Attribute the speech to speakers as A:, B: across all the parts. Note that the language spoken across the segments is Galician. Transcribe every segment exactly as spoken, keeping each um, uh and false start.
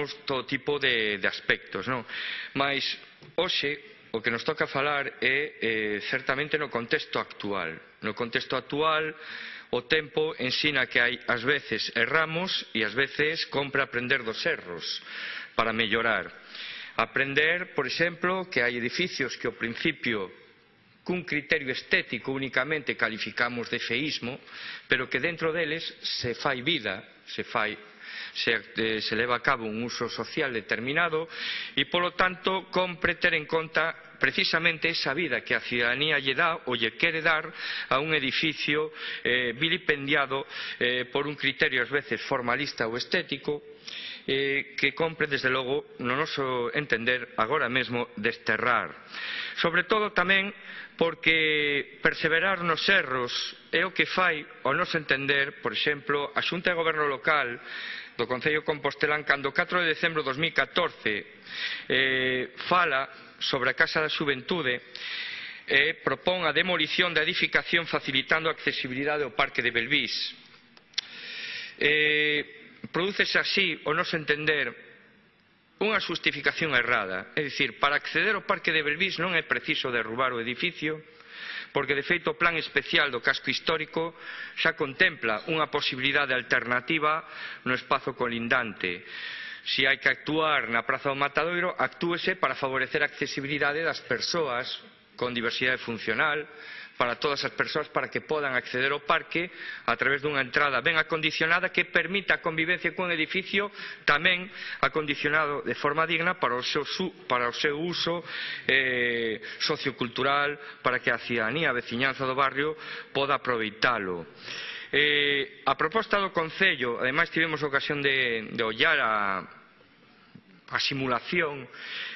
A: vemos todo tipo de, de aspectos, non? Mais hoxe o que nos toca falar é eh, certamente no contexto actual. No contexto actual o tempo ensina que hai ás veces erramos e ás veces compre aprender dos erros para mellorar. Aprender, por exemplo, que hai edificios que ao principio cun criterio estético únicamente calificamos de feísmo, pero que dentro deles se fai vida, se fai Se, eh, se leva a cabo un uso social determinado e, polo tanto, compre ter en conta precisamente esa vida que a ciudadanía lle dá ou lle quere dar a un edificio eh, vilipendiado eh, por un criterio ás veces formalista ou estético eh, que compre, desde logo, no noso entender, agora mesmo desterrar. Sobre todo tamén porque perseverar nos erros é o que fai, ao noso entender, por exemplo, a Xunta de Goberno Local do Concello Compostelán, cando o catro de decembro de dos mil catorce eh, fala sobre a Casa da Xuventude e eh, propón a demolición da edificación facilitando a accesibilidade ao Parque de Belvís. Eh, Prodúcese así, ao noso entender, unha xustificación errada. É dicir, para acceder ao Parque de Belvís non é preciso derrubar o edificio, porque de feito o plan especial do casco histórico xa contempla unha posibilidade alternativa no espazo colindante. Se hai que actuar na Praza do Matadoiro, actúese para favorecer a accesibilidade das persoas con diversidade funcional, para todas as persoas, para que podan acceder ao parque a través dunha entrada ben acondicionada que permita a convivencia cun edificio tamén acondicionado de forma digna para o seu, para o seu uso eh, sociocultural, para que a ciudadanía, a veciñanza do barrio poda aproveitalo. Eh, a proposta do Concello, ademais tivemos ocasión de, de ollar a, a simulación,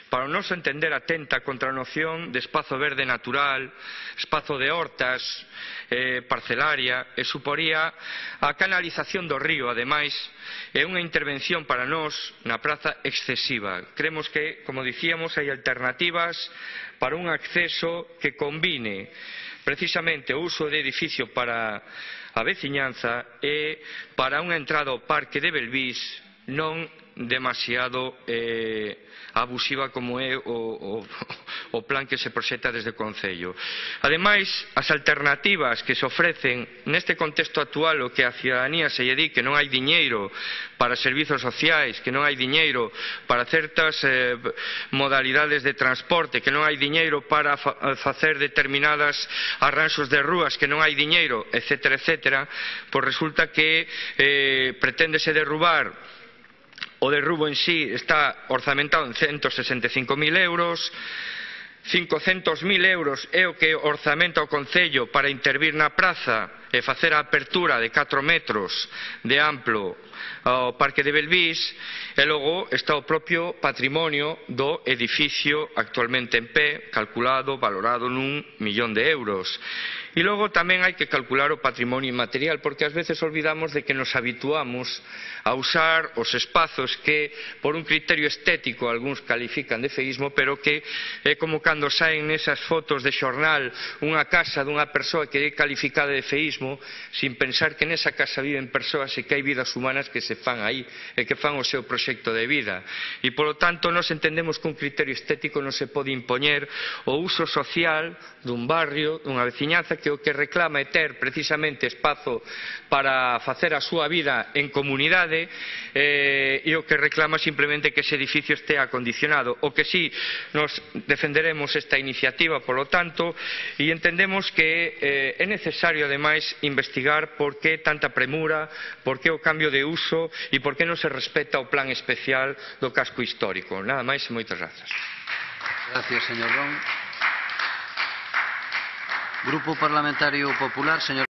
A: para o noso entender atenta contra a noción de espazo verde natural, espazo de hortas, eh, parcelaria, e suporía a canalización do río, ademais, é unha intervención para nós na praza excesiva. Cremos que, como dicíamos, hai alternativas para un acceso que combine precisamente o uso de edificio para a veciñanza e para unha entrada ao Parque de Belvís non demasiado eh, abusiva como é o, o, o plan que se proxecta desde o Concello. Ademais, as alternativas que se ofrecen neste contexto actual, o que a ciudadanía se lle di que non hai diñeiro para servizos sociais, que non hai diñeiro para certas eh, modalidades de transporte, que non hai diñeiro para fa facer determinadas arranxos de rúas, que non hai diñeiro, etcétera, etcétera, pois resulta que eh, preténdese derrubar. O derrubo en sí está orzamentado en ciento sesenta e cinco mil euros, cincocentos mil euros é o que orzamenta o Concello para intervir na praza e facer a apertura de catro metros de amplo ao Parque de Belvís, e logo está o propio patrimonio do edificio actualmente en pé, calculado, valorado nun millón de euros. E logo tamén hai que calcular o patrimonio inmaterial, porque ás veces olvidamos de que nos habituamos a usar os espazos que, por un criterio estético, algúns califican de feísmo, pero que é como cando saen nesas fotos de xornal unha casa dunha persoa que é calificada de feísmo, sin pensar que nesa casa viven persoas e que hai vidas humanas que se fan aí e que fan o seu proxecto de vida. E, polo tanto, nós entendemos que un criterio estético non se pode impoñer o uso social dun barrio, dunha veciñanza, que o que reclama é ter precisamente espazo para facer a súa vida en comunidade, eh, e o que reclama simplemente que ese edificio este acondicionado. O que sí, nos defenderemos esta iniciativa, polo tanto, e entendemos que eh, é necesario, ademais, investigar por que tanta premura, por que o cambio de uso e por que non se respeta o plan especial do casco histórico. Nada máis e moitas grazas.
B: Gracias, señor Ron. Grupo Parlamentario Popular, señor